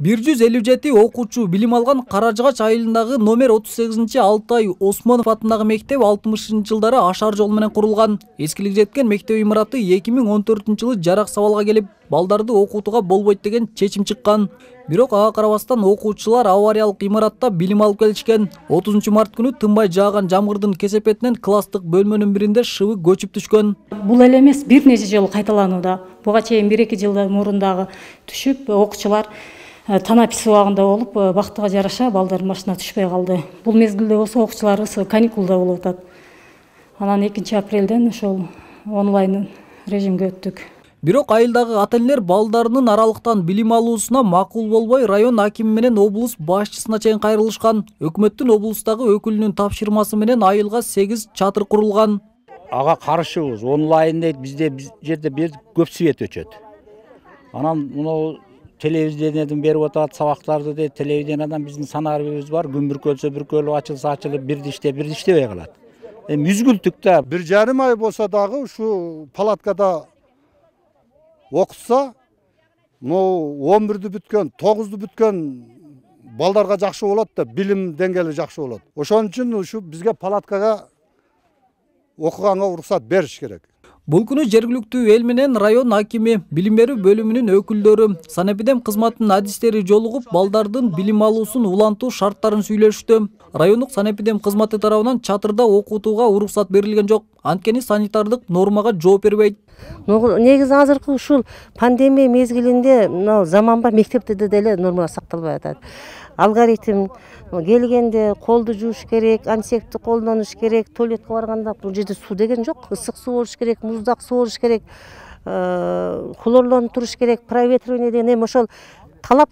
157 окуучу билим алган Каражыгач айылындагы номер 38-Алтай Осмонов атындагы мектеп 60-жылдары ашар жол менен курулган. Эскилик жеткен мектеп имараты 2014-жылы жарак сабалга келип, балдарды окутууга болбойт деген чечим чыккан. Бирок ага карабастан окуучулар авариялык имаратта билим алып келишкен. 30 март күнү тынбай жааган жамгырдын кесепетинен класстык бөлмөнүн биринде шыбы көчүп түшкөн. Бул эле эмес, бир нече жолу кайталанууда. Буга чейин 1-2 жылдан мурун дагы түшүп, окуучулар танапис убагында болуп, бактыга жараша балдардын башына түшпөй калды. Бул мезгилде болсо окуучуларыбыз каникулда болуп атат. Анан 2-апрелден ошол онлайн режимге өттүк. Бирок айылдагы ата-энелер балдарынын аралыктан билим алуусуна макул болбой, район акими менен облус башчысына чейин кайрылышкан. Өкмөттүн облустагы өкүлүнүн тапшырмасы менен айылга 8 чатыр курулган. Ага каршыбыз, онлайн дейт, бизде жерде көп свет өчөт. Анан муну телевидениеден берип атат, сабактарды дейт, телевидениядан биздин санарыбыз бар, күн бүркөлсө бүркөлүп, ачылса ачылып, бирди иштебей калат. Үзгүлтүк да. 1,5 ай болсо дагы ушу палаткада окутса, 11-ди бүткөн, 9-ду бүткөн балдарга жакшы болот да, билим деңгээли жакшы болот. Ошон үчүн ушу бизге палаткага окуганга уруксат бериш керек. Бул күнү жергиликтүү эл менен район акими, билим берүү бөлүмүнүн өкүлдөрү, санэпидем кызматынын адистери жолугуп, балдардын билим алуусун улантуу шарттарын сүйлөштү. Райондук санэпидем кызматы тарабынан чатырда окутууга уруксат берилген жок. Анткени санитардык нормага жооп бербейт. Негизи азыркы ушул пандемия мезгилинде заманба мектепте деле нормалар сакталбай атат. Алгоритм келгенде колду жууш керек, антисептикти колдонуш керек, туалетке барганда бул жерде суу деген жок, ысык суу болуш керек, муздак суу болуш керек, хлорлонуп туруш керек, проветривание деген эми ошол талап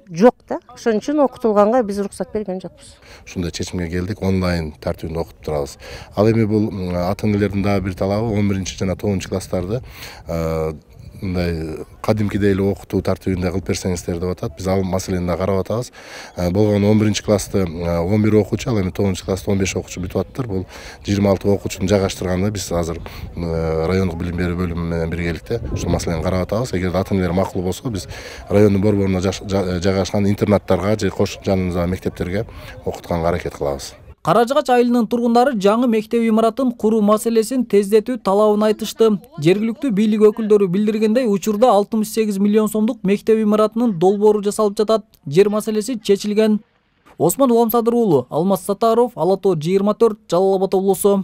жок да. Ошон үчүн окутулганга биз уруксат берген жокпуз. Ушундай чечимге келдик, онлайн тартибинде окутуп турабыз. Ал эми бул ата-энелердин дагы бир талабы 11 жана 9 класстарды мындай кадимкидей эле окутуу тартибинде кылып берсеңиздер деп атат. Биз ал маселени да карап атабыз. Болгону 11 класста 11 окуучу, ал эми 9 класста 15 окуучу бүтүп аттыр. Бул 26 окуучуну жайгаштырганда биз азыр райондук билим берүү бөлүмү менен биргеликте ушул маселени карап атабыз. Эгер ата-энелер макул болсо, биз райондун борборуна жайгашкан интернаттарга же кош жаныбыздагы мектептерге окутканга аракет кылабыз. Каражыгач айылынын тургундары жаңы мектеп имаратын куруу маселесин тездетүү талабын айтышты. Жергиликтүү бийлик өкүлдөрү билдиргендей, учурда 68 миллион сомдук мектеп имаратынын долбоору жасалып жатат. Жер маселеси чечилген. Осмон Уламсадыр уулу, Алмаз Сатаров, Ала Тоо 24, Жалал Абад облусу.